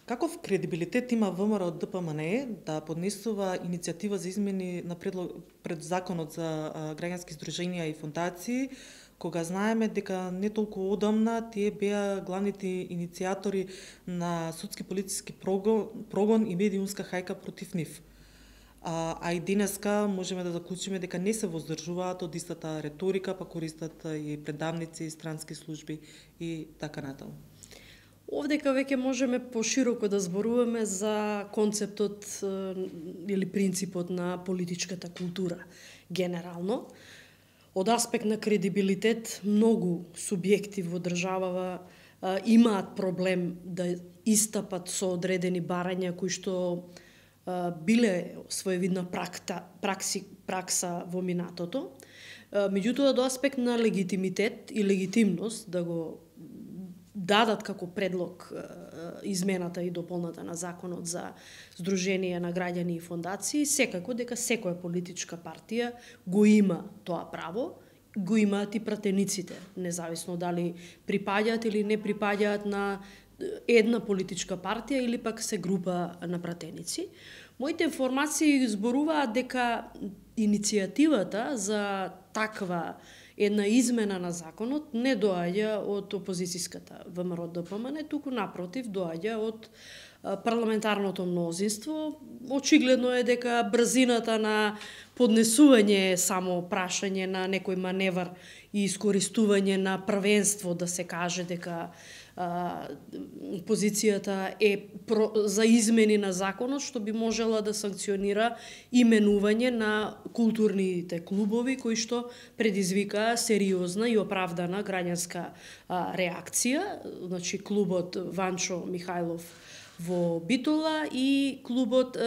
Каков кредибилитет има ВМРО ДПМНЕ да поднесува иницијатива за измени на пред законот за граѓански здруженија и фондации, кога знаеме дека не толку одамна тие беа главните иницијатори на судски полициски прогон и медиумска хајка против нив. А и денеска можеме да заклучиме дека не се воздржуваат од истата реторика, па користат и предавници, странски служби и така натаму. Овдека веќе можеме пошироко да зборуваме за концептот или принципот на политичката култура генерално. Од аспект на кредибилитет, многу субјекти во државава имаат проблем да истапат со одредени барања кои што биле своевидна пракса во минатото. Меѓутоа, до аспект на легитимитет и легитимност да го дадат како предлог измената и дополната на законот за здруженија на граѓани и фондации, секако дека секоја политичка партија го има тоа право, го имаат и пратениците, независно дали припаѓаат или не припаѓаат на една политичка партија или пак се група на пратеници. Моите информации зборуваат дека иницијативата за таква една измена на законот не доаѓа од опозицијската ВМРО ДПМН, туку напротив доаѓа од парламентарното мнозинство. Очигледно е дека брзината на поднесување е само прашање на некој маневар и искористување на првенство да се каже дека позицијата е за измени на законот, што би можела да санкционира именување на културните клубови кои што предизвика сериозна и оправдана граѓанска реакција. Значи клубот Ванчо Михајлов во Битола и клубот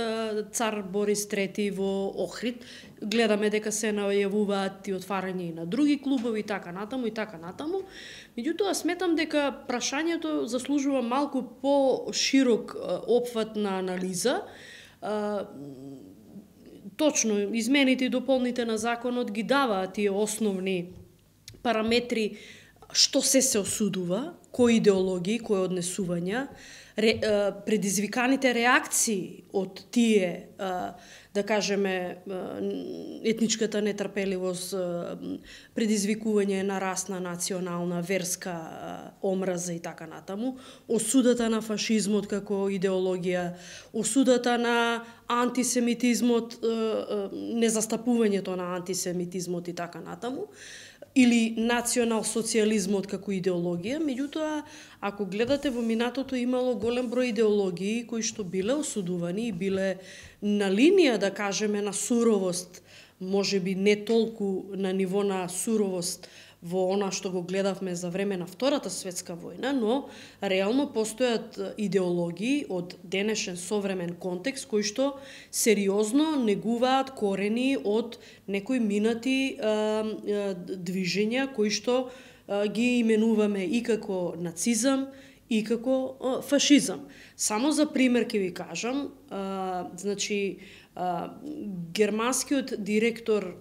Цар Борис III во Охрид. Гледаме дека се најавуваат и отварање на други клубови и така натаму и така натаму. Меѓутоа сметам дека прашањето заслужува малку по-широк опфат на анализа. Точно, измените и дополните на законот ги даваат тие основни параметри што се осудува, кои идеологии, кои однесувања, предизвиканите реакции од тие, да кажеме, етничката нетрпеливост, предизвикување на расна, национална, верска омраза и така натаму, осудата на фашизмот како идеологија, осудата на антисемитизмот, незастапувањето на антисемитизмот и така натаму, или национал-социализмот како идеологија. Меѓутоа, ако гледате во минатото имало голем број идеологии кои што биле осудувани и биле на линија, да кажеме, на суровост, можеби не толку на ниво на суровост во она што го гледавме за време на Втората светска војна, но реално постојат идеологии од денешен современ контекст кои што сериозно негуваат корени од некои минати движења кои што ги именуваме и како нацизам и како фашизам. Само за пример ќе ви кажам, значи германскиот директор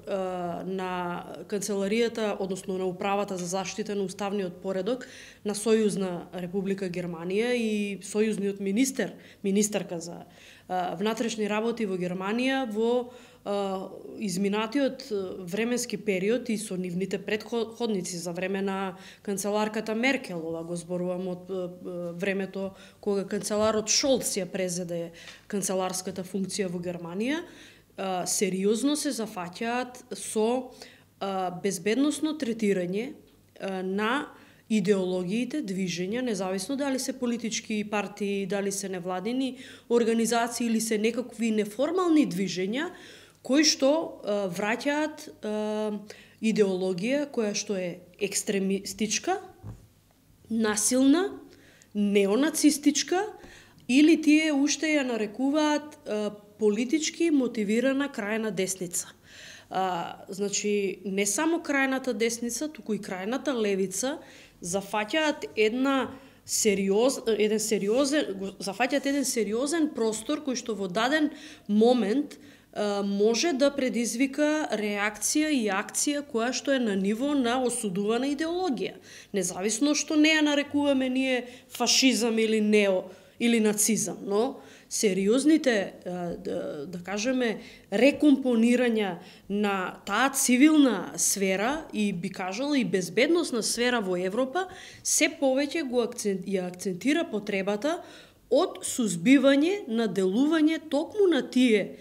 на канцеларијата, односно на управата за заштита на уставниот поредок на Сојузна Република Германија и сојузниот министерка за внатрешни работи во Германија во изминатиот временски период и со нивните претходници за време на канцеларката Меркелова, го зборувам од времето кога канцеларот Шолц ја презеде канцеларската функција во Германија, сериозно се зафаќаат со безбедносно третирање на идеологиите, движења, независно дали се политички партии, дали се невладини организации или се некакви неформални движења, кои што враќаат идеологија која што е екстремистичка, насилна, неонацистичка или тие уште ја нарекуваат политички мотивирана крајна десница. Значи, не само крајната десница, туку и крајната левица зафаќаат еден сериозен простор кој што во даден момент може да предизвика реакција и акција која што е на ниво на осудувана идеологија. Независно што не ја нарекуваме ние фашизам или нео или нацизам, но сериозните, да кажеме, рекомпонирања на таа цивилна сфера и би кажала и безбедносна сфера во Европа, се повеќе ја акцентира потребата од сузбивање на делување токму на тие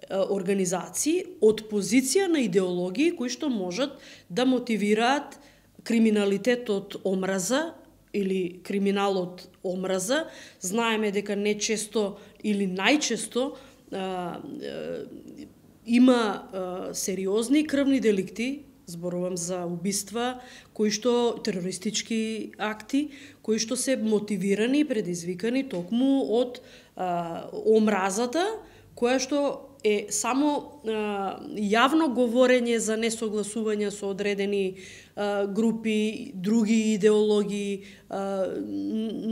организации од позиција на идеологии кои што можат да мотивираат криминалитет од омраза или криминал од омраза. Знаеме дека не често или најчесто има сериозни крвни деликти, зборувам за убиства, кои што терористички акти, кои што се мотивирани и предизвикани токму од омразата, која што е само јавно говорење за несогласување со одредени групи, други идеологии,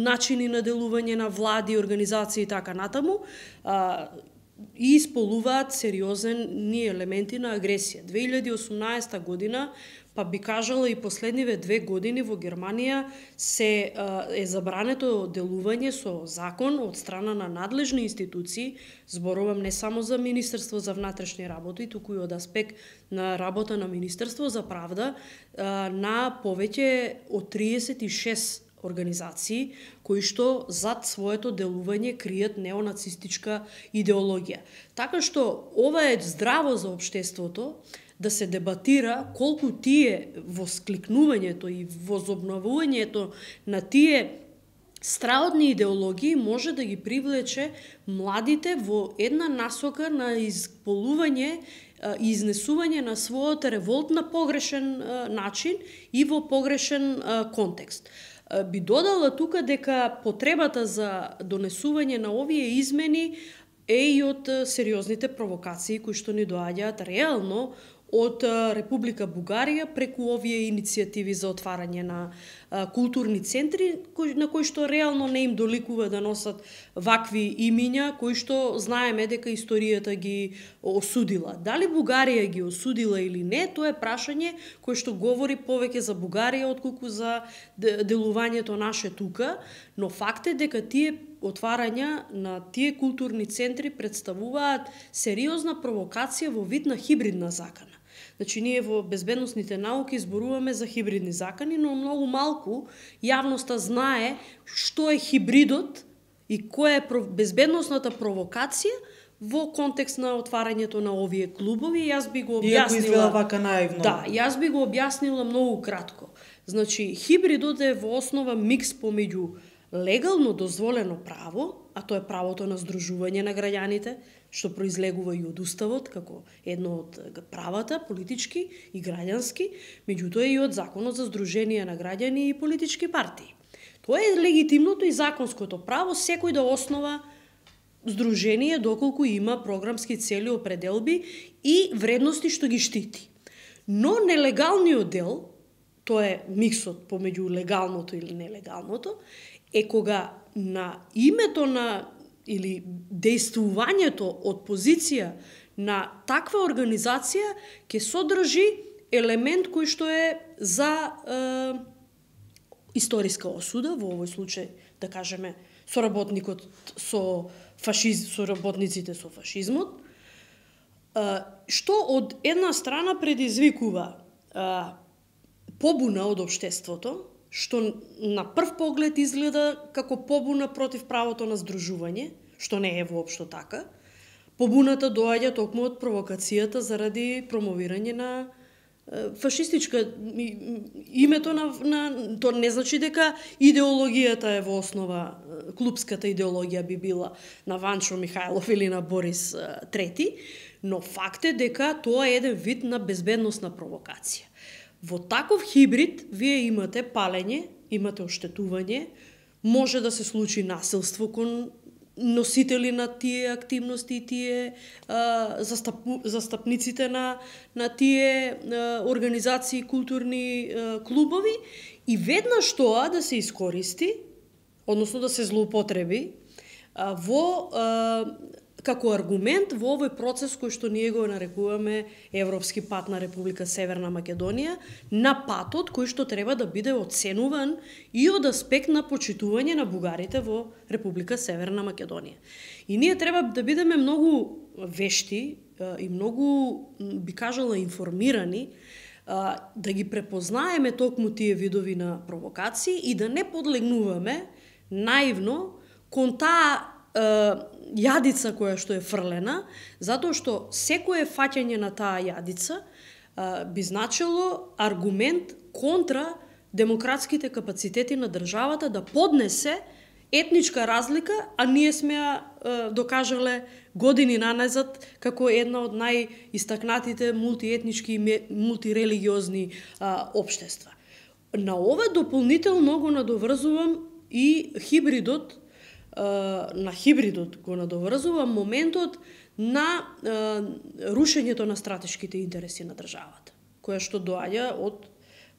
начини на делување на влади, организации и така натаму, и исполуваат сериозни елементи на агресија. 2018 година, па би кажала и последниве 2 години во Германија се е забрането делување со закон од страна на надлежни институции, зборувам не само за Министерство за внатрешни работи, туку и од аспект на работа на Министерство за правда, на повеќе од 36 организации кои што зад своето делување кријат неонацистичка идеологија. Така што ова е здраво за општеството да се дебатира колку тие воскликнувањето и возобновувањето на тие страодни идеологии може да ги привлече младите во една насока на изполување и изнесување на својот револт на погрешен начин и во погрешен контекст. Би додала тука дека потребата за донесување на овие измени е и од сериозните провокации кои што ни доаѓаат реално од Република Бугарија преку овие иницијативи за отварање на културни центри на кои што реално не им доликува да носат вакви имиња кои што знаеме дека историјата ги осудила. Дали Бугарија ги осудила или не, тоа е прашање кое што говори повеќе за Бугарија отколку за делувањето наше тука, но факт е дека тие отварања на тие културни центри представуваат сериозна провокација во вид на хибридна закана. Значи, ние во безбедносните науки зборуваме за хибридни закани, но многу малку јавноста знае што е хибридот и која е безбедносната провокација во контекст на отварањето на овие клубови. Јас би го објаснила... Иако изгледа вака наивно. Да, јас би го објаснила многу кратко. Значи, хибридот е во основа микс помеѓу легално дозволено право, а тоа е правото на здружување на граѓаните, што произлегува и од Уставот, како едно од правата, политички и граѓански, меѓутоа и од Законот за здружение на граѓани и политички партии. Тоа е легитимното и законското право секој да основа здружение доколку има програмски цели, определби и вредности што ги штити. Но нелегалниот дел, тоа е миксот помеѓу легалното или нелегалното, е кога на името на или дејствувањето од позиција на таква организација ќе содржи елемент кој што е за историска осуда, во овој случај, да кажеме, соработникот со соработниците со фашизмот, што од една страна предизвикува побуна од општеството, што на прв поглед изгледа како побуна против правото на здружување, што не е воопшто така. Побуната доаѓа токму од провокацијата заради промовирање на фашистичка името на тоа не значи дека идеологијата е во основа, клубската идеологија би била на Ванчо Михајлов или на Борис III, но факт е дека тоа е еден вид на безбедносна провокација. Во таков хибрид вие имате палење, имате оштетување, може да се случи насилство кон носители на тие активности и тие застапниците на тие организации, културни клубови и веднаш тоа да се искористи, односно да се злоупотреби во како аргумент во овој процес кој што ние го нарекуваме Европски пат на Република Северна Македонија, на патот кој што треба да биде оценуван и од аспект на почитување на бугарите во Република Северна Македонија. И ние треба да бидеме многу вешти и многу, би кажала, информирани, да ги препознаеме токму тие видови на провокации и да не подлегнуваме наивно кон таа јадица која што е фрлена, затоа што секое фаќање на таа јадица би значило аргумент контра демократските капацитети на државата да поднесе етничка разлика, а ние сме ја докажале години наназад како една од најистакнатите мултиетнички и мултирелигиозни општества. На ова дополнително го надоврзувам и хибридот, на хибридот го надоврзувам моментот на рушењето на стратешките интереси на државата, која што доаѓа од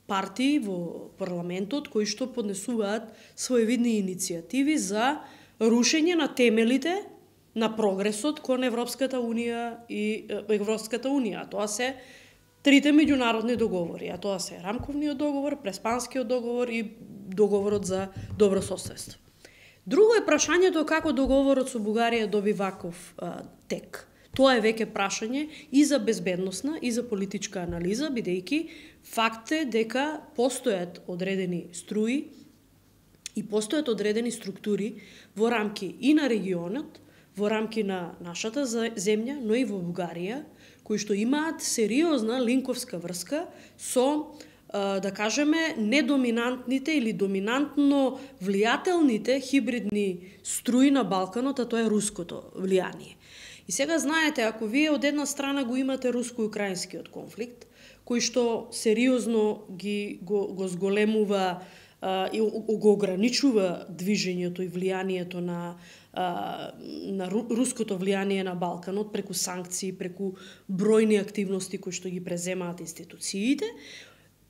партии во парламентот кои што поднесуваат своевидни иницијативи за рушење на темелите на прогресот кон Европската Унија и Европската Унија. Тоа се трите меѓународни договори, а тоа се рамковниот договор, Преспанскиот договор и договорот за добрососедство. Друго е прашањето како договорот со Бугарија доби ваков тек. Тоа е веќе прашање и за безбедносна и за политичка анализа, бидејќи факт е дека постојат одредени струи и постојат одредени структури во рамки и на регионот, во рамки на нашата земја, но и во Бугарија, кои што имаат сериозна линковска врска со, да кажеме, недоминантните или доминантно влијателните хибридни струи на Балканот, а тоа е руското влијание. И сега знаете, ако вие од една страна го имате руско-украинскиот конфликт, кој што сериозно го зголемува и го ограничува движењето и влијанието на руското влијание на Балканот преку санкции, преку бројни активности кои што ги преземаат институциите,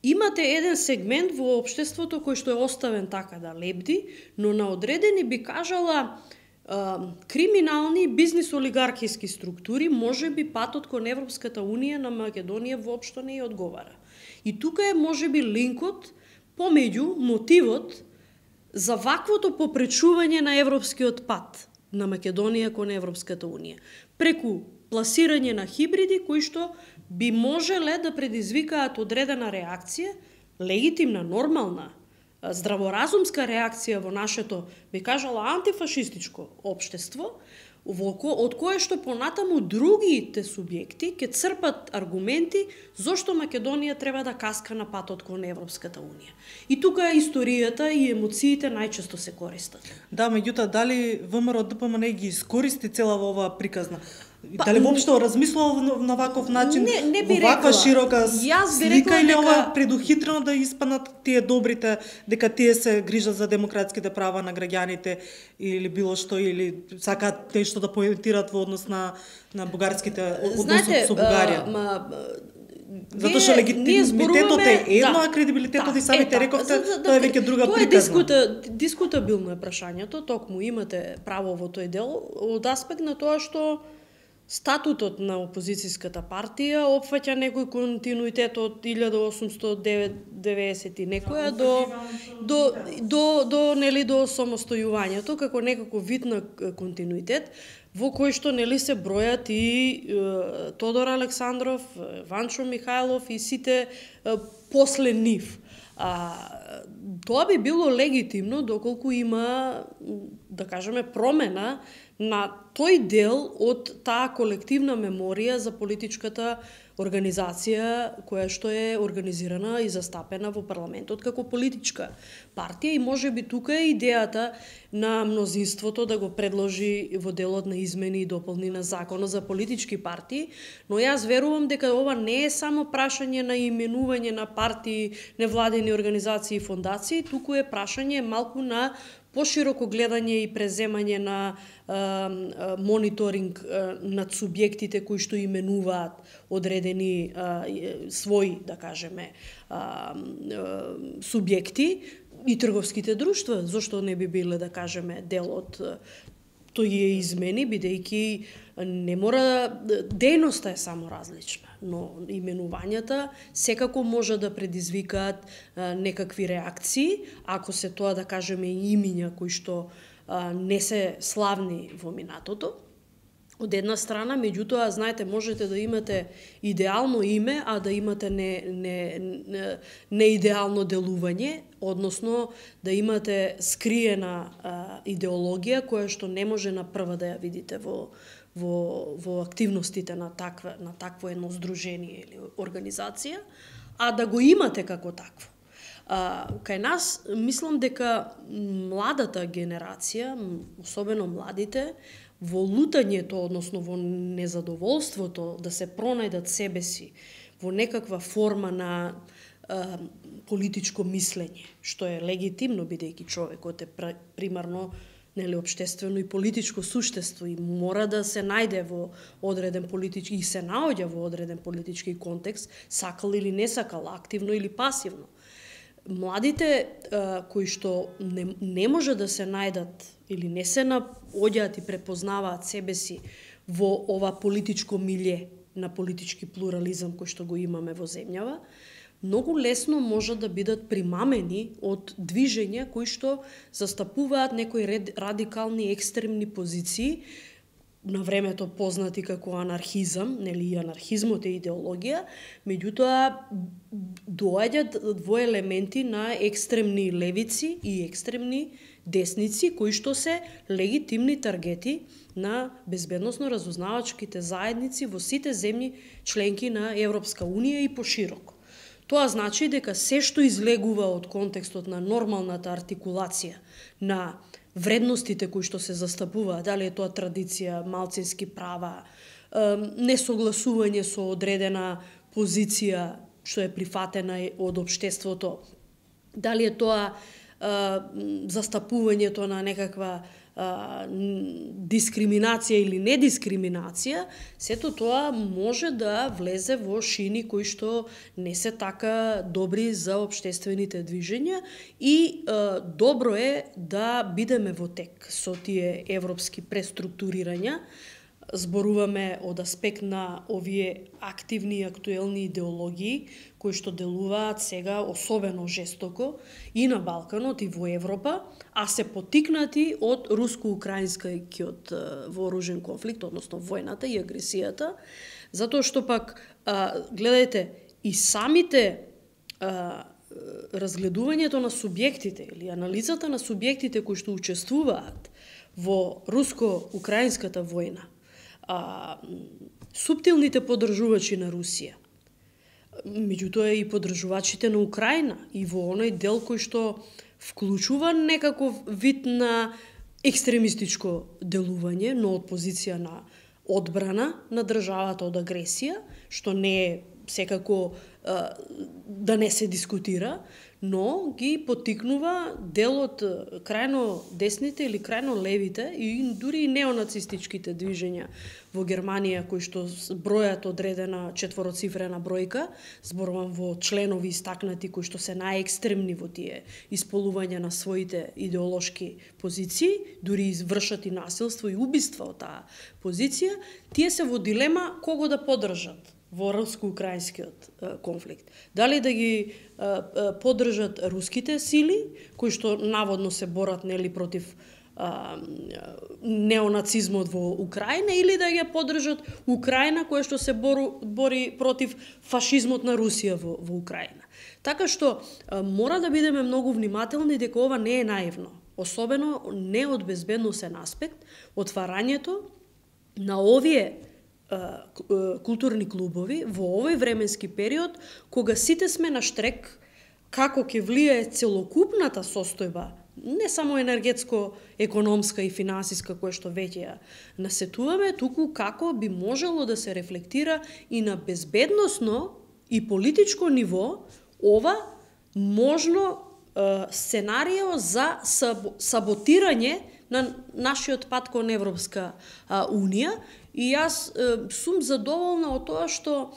имате еден сегмент во општеството кој што е оставен така да лебди, но на одредени, би кажала, криминални бизнис-олигархиски структури, може би патот кон Европската Унија на Македонија воопшто не ја одговара. И тука е може би линкот помеѓу мотивот за ваквото попречување на европскиот пат на Македонија кон Европската Унија, преку пласирање на хибриди кои што би можеле да предизвикаат одредена реакција, легитимна, нормална, здраворазумска реакција во нашето, би кажала, антифашистичко општество, од кое што понатаму другите субјекти ќе црпат аргументи зошто Македонија треба да каска на патот кон Европската Унија. И тука историјата и емоциите најчесто се користат. Да, меѓутоа, дали ВМРО ДПМН ги искористи цела ова приказна? Дали воопшто размислува на ваков начин, не би во ваква широка слика, или ова предухитрено да испанат тие добрите, дека тие се грижат за демократските права на граѓаните или било што, или сакаат нешто да поентираат во однос на бугарските односи со Бугарија? Затоа што легитимитетот е едно, а кредибилитетот и самите рековте, тоа е веќе друга приказна. Тоа е дискутабилно е прашањето, токму имате право во тој дел, од аспект на тоа што статутот на опозицијската партија опфаќа некој континуитет од 1890 и некоја до нели до самостојувањето како некако вид на континуитет во кој што нели се бројат и Тодор Александров, Ванчо Михајлов и сите после нив. Тоа би било легитимно доколку има, да кажеме, промена на тој дел од таа колективна меморија за политичката организација која што е организирана и застапена во парламентот како политичка партија, и може би тука е идејата на мнозинството да го предложи во делот на измени и дополни на законот за политички партии, но јас верувам дека ова не е само прашање на именување на партии, невладени организации и фондации, туку е прашање малку на пошироко гледање и преземање на мониторинг над субјектите кои што именуваат одредени своји, да кажеме, субјекти и трговските друштва, зошто не би биле, да кажеме, дел од тој ја измени, бидејќи не мора, дејноста е само различна, но именувањата секако може да предизвикаат некакви реакции, ако се тоа, да кажеме, имиња кои што не се славни во минатото. Од една страна, меѓутоа, знаете, можете да имате идеално име, а да имате неидеално делување, односно да имате скриена идеологија која што не може на прва да ја видите во активностите на такво едно здружение или организација, а да го имате како такво. Кај нас, мислам дека младата генерација, особено младите, во лутањето, односно во незадоволството да се пронајдат себе си во некаква форма на политичко мислење, што е легитимно, бидејќи човекот е примарно општествено и политичко суштество и мора да се најде во одреден политички и се наоѓа во одреден политички контекст, сакал или не сакал, активно или пасивно. Младите кои што не може да се најдат или не се наоѓаат и препознаваат себе си во ова политичко милје на политички плурализам кој што го имаме во земјава, многу лесно може да бидат примамени од движења кои што застапуваат некои радикални екстремни позиции, на времето познати како анархизам, нели, анархизмот е идеологија, меѓутоа доаѓаат во елементи на екстремни левици и екстремни десници, кои што се легитимни таргети на безбедносно-разузнавачките заедници во сите земји членки на Европска Унија и пошироко. Тоа значи дека се што излегува од контекстот на нормалната артикулација на вредностите кои што се застапуваат, дали е тоа традиција, малцински права, несогласување со одредена позиција што е прифатена од општеството, дали е тоа застапувањето на некаква дискриминација или недискриминација, сето тоа може да влезе во шини кои што не се така добри за општествените движења и добро е да бидеме во тек со тие европски преструктурирања. Зборуваме од аспект на овие активни и актуелни идеологии кои што делуваат сега особено жестоко и на Балканот и во Европа, а се поттикнати од руско-украинскиот вооружен конфликт, односно војната и агресијата, затоа што пак, гледајте, и самите разгледувањето на субјектите или анализата на субјектите кои што учествуваат во руско-украинската војна, суптилните поддржувачи на Русија, меѓутоа и поддржувачите на Украина и во оној дел кој што вклучува некаков вид на екстремистичко делување, но од позиција на одбрана на државата од агресија, што не е секако да не се дискутира, но ги поттикнува дел од крајно десните или крајно левите и дури и неонацистичките движења во Германија кои што бројат одредена четвороцифрена бројка, зборувам во членови истакнати кои што се најекстремни во тие исполувања на своите идеолошки позиции, дури извршат и насилство и убиства од таа позиција, тие се во дилема кого да поддржат во руско-украинскиот конфликт. Дали да ги поддржат руските сили, кои што наводно се борат нели против неонацизмот во Украина, или да ја поддржат Украина која што се бори против фашизмот на Русија во Украина. Така што мора да бидеме многу внимателни дека ова не е наивно, особено не од безбедносен аспект, отварањето на овие културни клубови во овој временски период, кога сите сме на штрек како ќе влијае целокупната состојба, не само енергетско-економска и финансиска која што веќе ја насетуваме, туку како би можело да се рефлектира и на безбедносно и политичко ниво ова можно сценарио за саботирање на нашиот пат кон Европска Унија. И јас сум задоволна од тоа што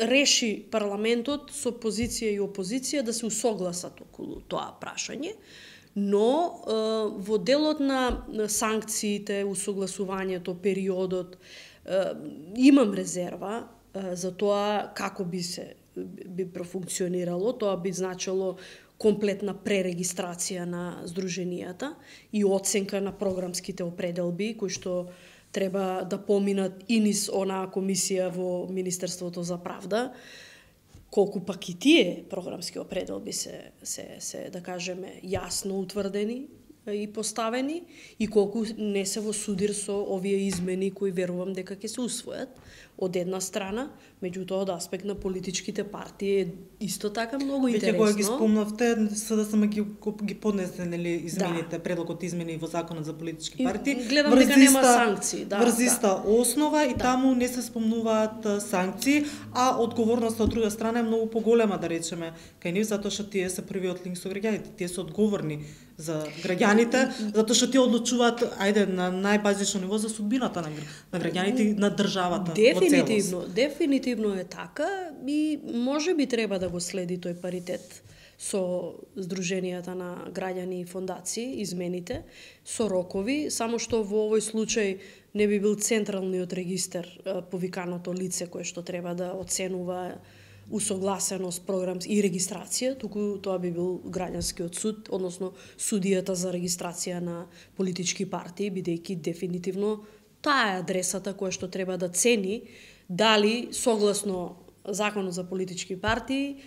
реши парламентот со позиција и опозиција да се усогласат околу тоа прашање, Но во делот на санкциите, усогласувањето, периодот, имам резерва за тоа како би профункционирало. Тоа би значило комплетна пререгистрација на здруженијата и оценка на програмските определби кои што треба да поминат и низ онаа комисија во Министерството за правда. Колку пак и тие програмски определби се да кажеме јасно утврдени и поставени и колку не се во судир со овие измени кои верувам дека ќе се усвојат од една страна, меѓутоа од аспект на политичките партии е исто така многу интересно. Веќе кога ги спомнавте, СДСМ ги поднесе нели измените, предлогот измени во законот за политички партии. Гледам дека нема санкции, врзиста основа и таму не се спомнуваат санкции, а одговорноста од друга страна е многу поголема, да речеме, кај нив, затоа што тие се првиот линк со граѓаните, тие се одговорни за граѓаните, затоа што тие одлучуваат на најбазично ниво за судбината на граѓаните и на државата. Дефинитивно е така и може би треба да го следи тој паритет со здруженијата на граѓани и фондации, измените, со рокови, само што во овој случај не би бил централниот регистар повиканото лице кое што треба да оценува усогласеност, програм и регистрација, туку тоа би бил граѓанскиот суд, односно судијата за регистрација на политички партии, бидејќи дефинитивно таа е адресата која што треба да цени дали согласно Законот за политички партии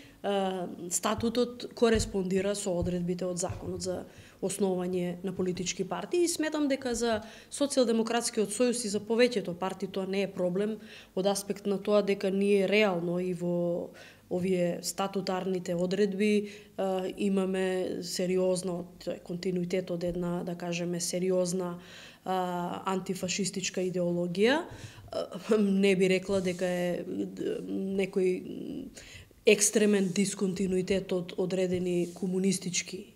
статутот кореспондира со одредбите од Законот за основање на политички партии и сметам дека за Социјалдемократскиот сојуз и за повеќето партии тоа не е проблем од аспект на тоа дека ние реално и во овие статутарните одредби имаме сериозно континуитет од една, да кажеме, сериозна антифашистичка идеологија. Не би рекла дека е некој екстремен дисконтинуитет од одредени комунистички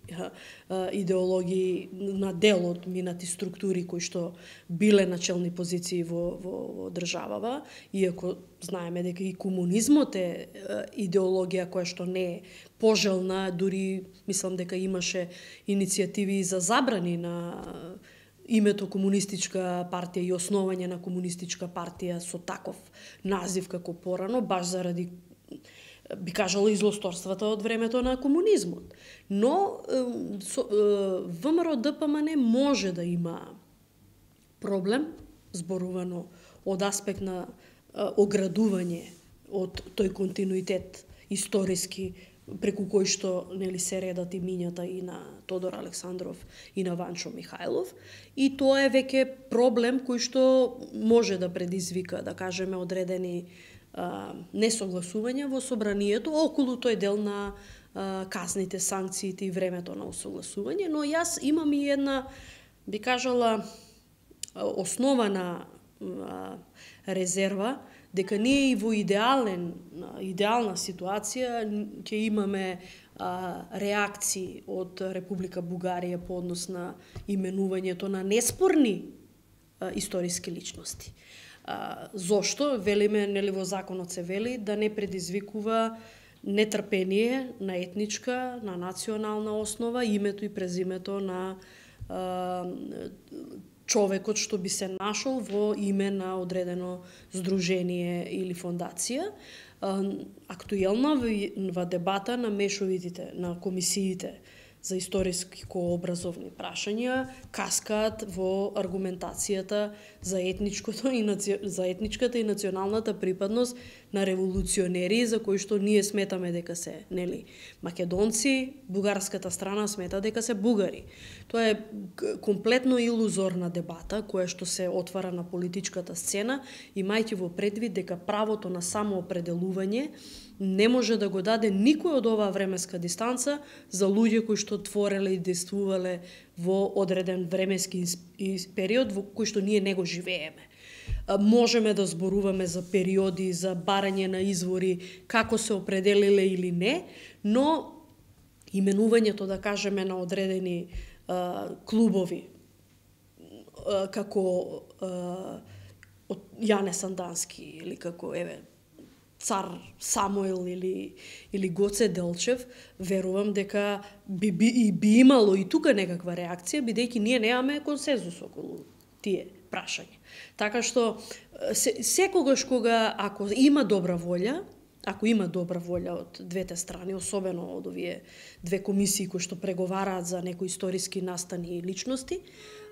идеологии на дел од минати структури кои што биле на челни позиции во државава, иако знаеме дека и комунизмот е идеологија која што не е пожелна, дури мислам дека имаше иницијативи за забрани на името комунистичка партија и основање на комунистичка партија со таков назив како порано, баш заради, би кажала, излосторствата од времето на комунизмот. Но ВМРО ДПМН може да има проблем, зборувано од аспект на оградување од тој континуитет историски преку кој што нели се редат имињата и на Тодор Александров и на Ванчо Михајлов, и тоа е веќе проблем кој што може да предизвика, да кажеме, одредени несогласувања во собранието околу тој дел на казните, санкциите и времето на усогласување, но јас имам и една, би кажала, основана резерва дека ние и во идеална ситуација ќе имаме реакции од Република Бугарија по однос на именувањето на неспорни историски личности. Зошто? Велиме, нели во законот се вели да не предизвикува нетрпение на етничка, на национална основа, името и презимето на човекот што би се нашол во име на одредено здружение или фондација. Актуелна во дебата на мешовитите, на комисиите за историско-образовни прашања каскаат во аргументацијата за етничката и националната припадност на револуционери за кои што ние сметаме дека се, нели, македонци, бугарската страна смета дека се бугари. Тоа е комплетно илузорна дебата која што се отвара на политичката сцена, имајќи во предвид дека правото на самоопределување не може да го даде никој од оваа временска дистанца за луѓе кои што твореле и действувале во одреден временски период во кој што ние не го живееме. Можеме да зборуваме за периоди, за барање на извори, како се определиле или не, но именувањето, да кажеме, на одредени клубови, како од Јане Сандански или како, цар Самуил или Гоце Делчев, верувам дека би имало и тука некаква реакција, бидејќи ние немаме консензус околу тие прашања. Така што секогаш кога ако има добра волја од двете страни, особено од овие две комисии кои што преговараат за некои историски настани и личности,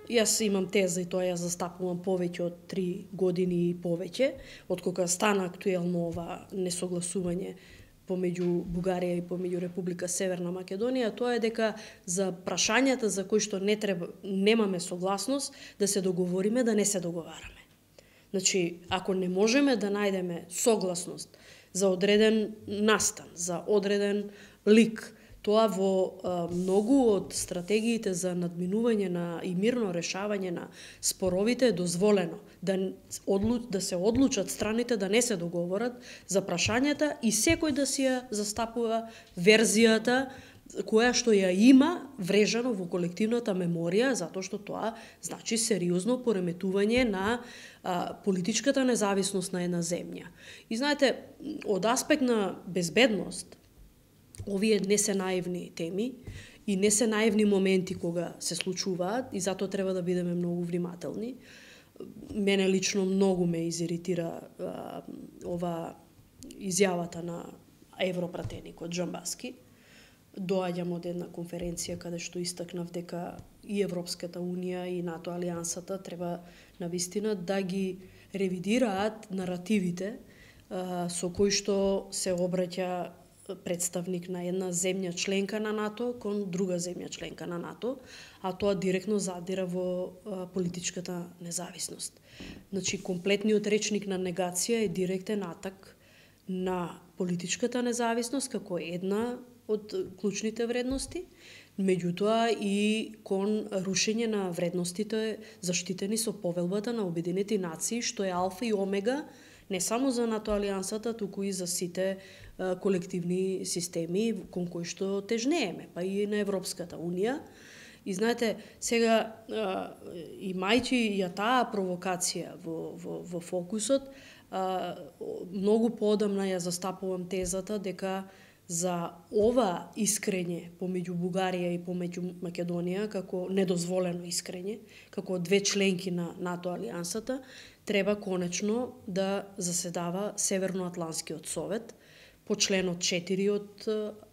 јас имам теза и тоа ја застапувам повеќе од 3 години и повеќе, од кога стана актуелно ова несогласување помеѓу Бугарија и помеѓу Република Северна Македонија, тоа е дека за прашањата за кои што немаме согласност, да се договориме да не се договараме. Значи, ако не можеме да најдеме согласност за одреден настан, за одреден лик, тоа во многу од стратегиите за надминување и мирно решавање на споровите е дозволено да се одлучат страните да не се договорат за прашањата и секој да си ја застапува верзијата која што ја има врежано во колективната меморија, затоа што тоа значи сериозно пореметување на политичката независност на една земја. И знаете, од аспект на безбедност, овие не се наивни теми и не се наивни моменти кога се случуваат и затоа треба да бидеме многу внимателни. Мене лично многу ме изиритира ова изјавата на европратеникот Джамбаски. Доаѓам од една конференција каде што истакнав дека и Европската Унија и НАТО алијансата треба навистина да ги ревидираат наративите со кои што се обраќа представник на една земја членка на НАТО кон друга земја членка на НАТО, а тоа директно задира во политичката независност. Значи, комплетниот речник на негација е директен атак на политичката независност како една од клучните вредности, меѓутоа и кон рушење на вредностите заштитени со повелбата на Обединети нации, што е алфа и омега не само за НАТО алијансата, туку и за сите колективни системи кон кои што тежнееме, па и на Европската Унија. И знаете, сега имајќи ја таа провокација во фокусот, многу поодамна ја застапувам тезата дека за ова искрење помеѓу Бугарија и помеѓу Македонија, како недозволено искрење, како две членки на НАТО алијансата, треба конечно да заседава Северноатланскиот совет по членот 4 од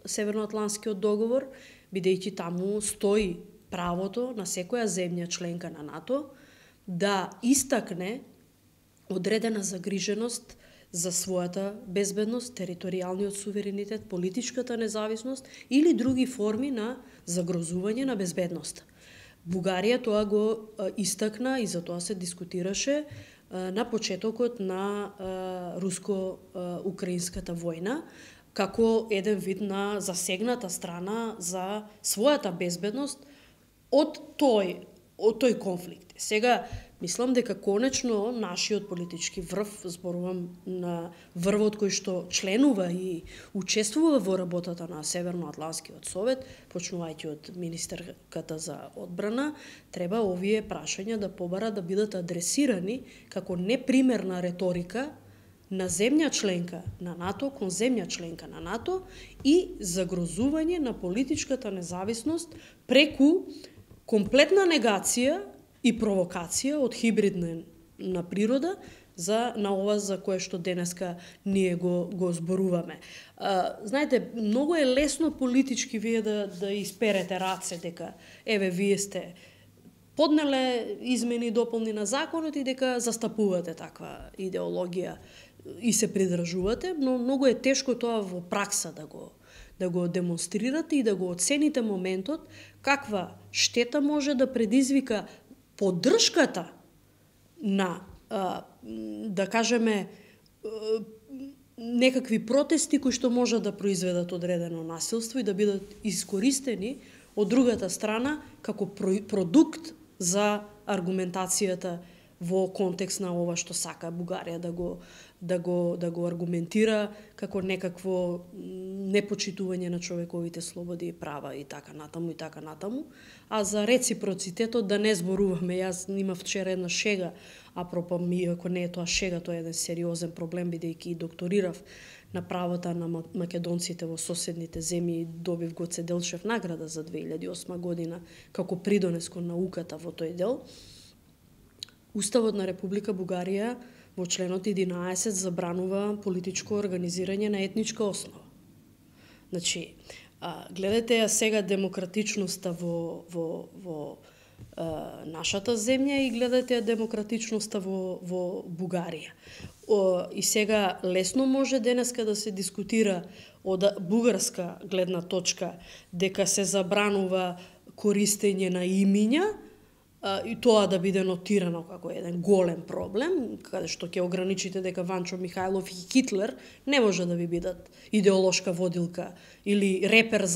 Северноатланскиот договор, бидејќи таму стои правото на секоја земја членка на НАТО да истакне одредена загриженост за својата безбедност, територијалниот суверенитет, политичката независност или други форми на загрозување на безбедноста. Бугарија тоа го истакна и за тоа се дискутираше на почетокот на руско-украинската војна, како еден вид на засегната страна за својата безбедност од тој конфликт. Сега, мислам дека конечно нашиот политички врв, зборувам на врвот кој што членува и учествува во работата на Северноатланскиот совет, почнувајќи од министерката за одбрана, треба овие прашања да побарат да бидат адресирани како непримерна реторика на земја членка на НАТО кон земја членка на НАТО и загрозување на политичката независност преку комплетна негација и провокација од хибридна природа на ова за кое што денеска ние го зборуваме. Знаете, многу е лесно политички вие да исперете раце дека еве вие сте поднеле измени и дополни на законот и дека застапувате таква идеологија и се придржувате, но многу е тешко тоа во пракса да го демонстрирате и да го оцените моментот каква штета може да предизвика поддршката на, да кажеме, некакви протести кои што можат да произведат одредено насилство и да бидат искористени од другата страна како продукт за аргументацијата во контекст на ова што сака Бугарија да го аргументира како некакво непочитување на човековите слободи и права и така натаму, а за реципроцитетот да не зборуваме. Јас имав вчера една шега, апропо ми, ако не е тоа шега, тоа е еден сериозен проблем, бидејќи докторирав на правата на македонците во соседните земји и добив Гоце Делчев награда за 2008 година како придонес кон науката во тој дел. Уставот на Република Бугарија во членот 11 забранува политичко организирање на етничка основа. Значи, гледате ја сега демократичноста во нашата земја и гледате ја демократичноста во Бугарија. И сега лесно може денеска да се дискутира од бугарска гледна точка дека се забранува користење на имиња и тоа да биде нотирано како еден голем проблем, каде што ќе ограничите дека Ванчо Михајлов и Хитлер не може да ви бидат идеолошка водилка или репер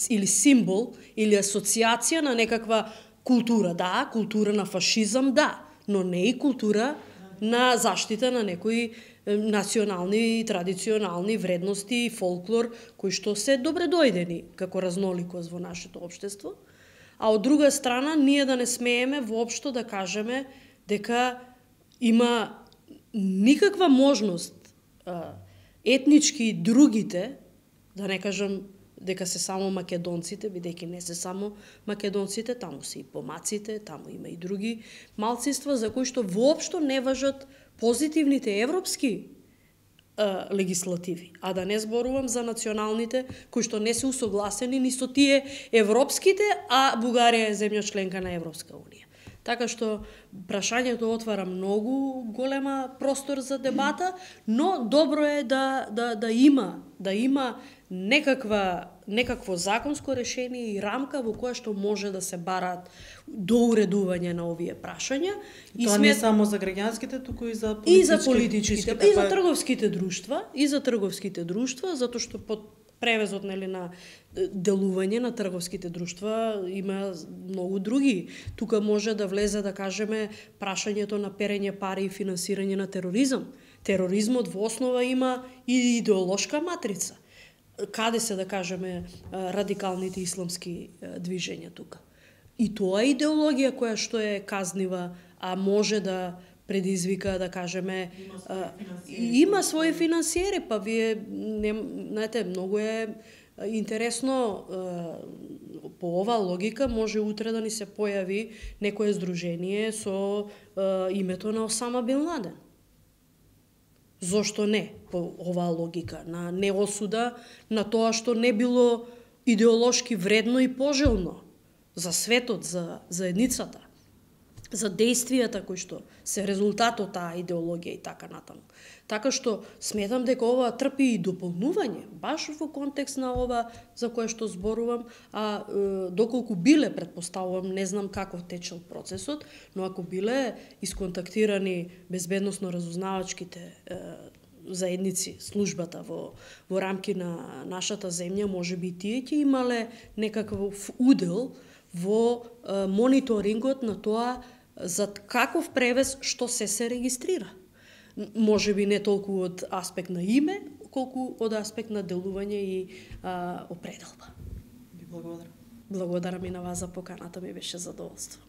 или символ или асоциација на некаква култура. Да, култура на фашизам, да, но не и култура на заштита на некои национални и традиционални вредности и фолклор кои што се добре дојдени како разноликост во нашето општество. А од друга страна, ние да не смееме воопшто да кажеме дека има никаква можност етнички и другите, да не кажам дека се само македонците, бидејќи не се само македонците, таму се и помаците, таму има и други малцинства за кои што воопшто не важат позитивните европски легислативи, а да не зборувам за националните кои што не се усогласени ни со тие европските, а Бугарија е земја членка на Европска унија. Така што прашањето отвара многу голема простор за дебата, но добро е да има некакво законско решение и рамка во која што може да се бараат доуредување на овие прашања. Тоа не само за граѓанските, туку и за политичките. И за политичките, и за трговските друштва, затоа што под превезот на делување на трговските друштва има многу други. Тука може да влезе, да кажеме, прашањето на перење пари и финансирање на тероризам. Тероризмот во основа има и идеолошка матрица. Каде се, да кажеме, радикалните исламски движења тука. И тоа е идеологија која што е казнива, а може да предизвика, да кажеме, има своји финансиери, па вие, знаете, многу е интересно, по ова логика може утре да ни се појави некое здружение со името на Осама Бин Ладен. Зошто не, по оваа логика, на неосуда на тоа што не било идеолошки вредно и пожелно за светот, за едницата, за дејствијата кои што се резултат од таа идеологија и така натаму. Така што сметам дека ова трпи и дополнување, баш во контекст на ова за кое што зборувам, а доколку биле, предпоставувам, не знам како течел процесот, но ако биле исконтактирани безбедносно-разузнавачките заедници, службата во рамки на нашата земја, може би тие ќе имале некаков удел во мониторингот на тоа за каков превез што се регистрира. Може би не толку од аспект на име, колку од аспект на делување и определба. Ви благодарам. Благодарам и на вас за поканата, ми беше задоволство.